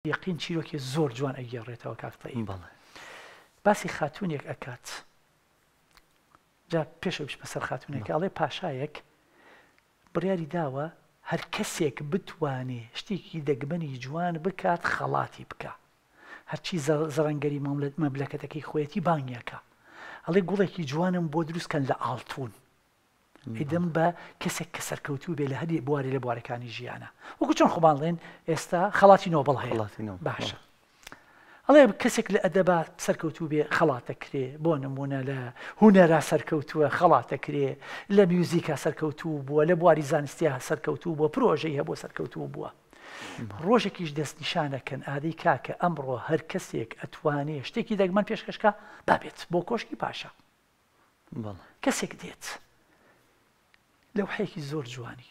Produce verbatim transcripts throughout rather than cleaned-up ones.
یەقین چیرۆکی زۆر جوان ئەگێڕێتەوە کاک تەیب. باسی خاتوونێک ئەکات، جا پێش ئەوەی بچمە سەر خاتوونەکە ئەڵێ پاشایەک بڕیاری داوە هەر کەسێک بتوانێ شتێکی دەگمەنی جوان بکات خەڵاتی بکا، هەرچی زەڕەنگەری مەملەکەتەکەی خۆیەتی بانگیەکە، ئەڵێ گوڵێکی جوانم بۆ دروست کەن لە ئاڵتون، ئیدم بە کەسێک کە سەرکەوتوو بێ لە هەر بوارێ لە بوارەکانی ژیانە، وەکو چۆن خۆمان ڵێن ئێستا خەڵاتی نۆبڵ هەیە. باشە ئەڵێ کەسێک لە ئەدەبا سەرکەوتوو بێ خەڵاتەکرێ، بۆ نمونە لە هونەرا سەرکەوتووە خەڵاتەکرێ، لە میوزیکا سەرکەوتوو بووە، لە بواری زانستیا سەرکەوتوو بووە، پرۆژەی هەبوو سەرکەوتوو بووە. ڕۆژێکیش دەستنیشانەکەن ئادەی کاکە ئەمڕۆ هەر کەسێک ئەتوانێ شتێکی دەگمەن پێشکەشکا با بێت بۆ کۆشکی پاشا. کەسێک دێت لەوحەیەکی زۆر جوانی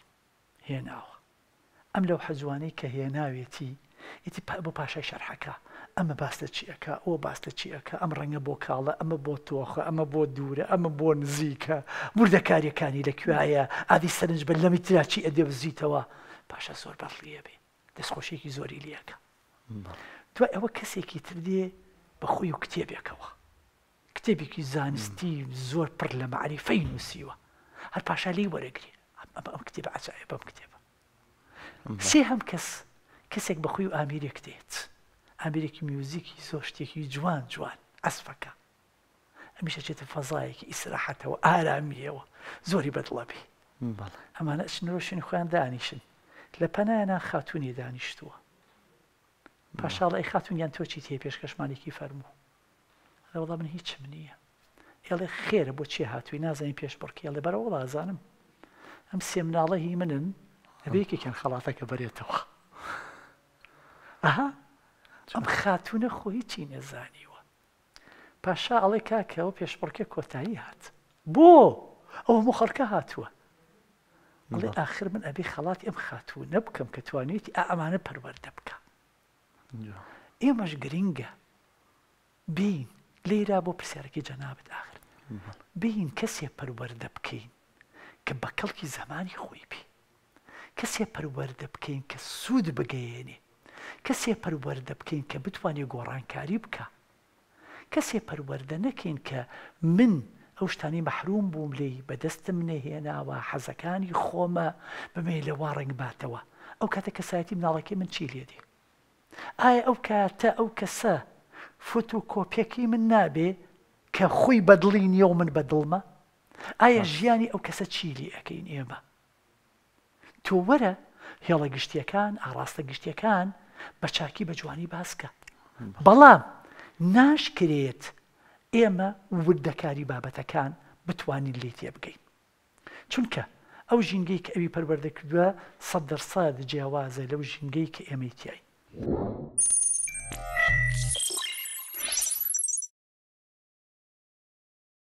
هێناوە، ئەم لەوحە جوانەی کە هێناوێتی ئیتی بۆ پاشای شەرحەکە، ئەمە باس لە چی ئەکا، ئەوە باس لە چی ئەکا، ئەم ڕەنگە بۆ کاڵە، ئەمە بۆ تۆخە، ئەمە بۆ دوورە، ئەمە بۆ نزیکە، وردەکاریەکانی لەکوێیە، ئادی سەرنج بە لەمی ترا چی ئەدێ بزیتەوە. پاشا زۆر بەڵیە بێ، دەستخۆشیێکی زۆری لێەکە. دوای ئەوە کەسێکی تر دێ بە خۆی و کتێبێکەوە، کتێبێکی زانستی زۆر پڕ لە مەعریفەی نووسیوە، هەر پاشا لێی وەرەگرێ ئەم ئەم کتێبە عەجایبە، ئەم کتێبە. سێ هەم کەس کەسێک بە خۆی و ئامیرێک دێت، ئامیرێکی میوزیکی زۆر شتێکی جوان جوان ئەسفەکە، ئەمیشە چێتە فەزایەکی ئیسراحەتەوە ئارامیەوە زۆری بەدڵە بێ. ئەمانە ئەچنەوە شوێنی خۆیان دانیشن، لە پەنایانە خاتوونی دانیشتووە. پاشاڵ ئەی خاتوونیان تۆ چیت هەیە پێشکەشمانێکی فەرموو؟ ئەڵێ وەڵا من هیچم نییە. ئێڵێ خێرە بۆ چێ هاتووی نازانین پێشبڕکێ؟ ئەڵێ بەرە وەڵا ئەزانم ئەم سێ مناڵە هی منن، ئەبێ یەکێکیان خەڵاتەکە بەرێتەوە. ئەها ئەم خاتوونە خۆ هیچی نەزانیوە. پاشا ئەڵێ کاکە ئەوە پێشبڕکێ کۆتایی هات، بۆ ئەو هەموو خەڵکە هاتووە؟ ئەڵێ ئاخر من ئەبێ خەڵاتی ئەم خاتوونە بکەم کە توانێتی ئا ئەمانە پەروەردە بکە. ئێمەش گرنگە بین لێرا بۆ پرسیارەکەی جەنابت ئاخر بین کەسێ پەروەردە بکەین کە بە کەڵکی زەمانی خۆی بێ، کەسێ پەروەردە بکەین کە سوود بگەیەنێ، کەسێ پەروەردە بکەین کە بتوانێ گۆڕانکاری بکە، کەسێ پەروەردە نەکەین کە من ئەو شتانەی مەحروم بووم لێی بەدەستم نەهێناوە، حەزەکانی خۆمە بمێ لە وا ڕەنگ باتەوە. ئەو کاتە کەسایەتی مناڵەکەی من چی لێ دێ؟ ئایا ئەو کاتە ئەو کەسە فۆتۆکۆپیەکەی من نابێ کە خۆی بەدڵی نییە و من بەدڵمە؟ ئایا ژیانی ئەو کەسە چی لێ ئەکەین ئێمە؟ تۆ وەرە هێڵە گشتیەکان، ئاڕاستە گشتیەکان بە چاکی بە جوانی باسکە، بەڵام ناشکرێت ئێمە وردەکاری بابەتەکان بتوانین لێ تێبگەین، چونکە ئەو ژینگەی کە ئەوی پەروەردە کردووە سەد دەرسەد جیاوازە لەو ژینگەی کە ئێمەی تیاین.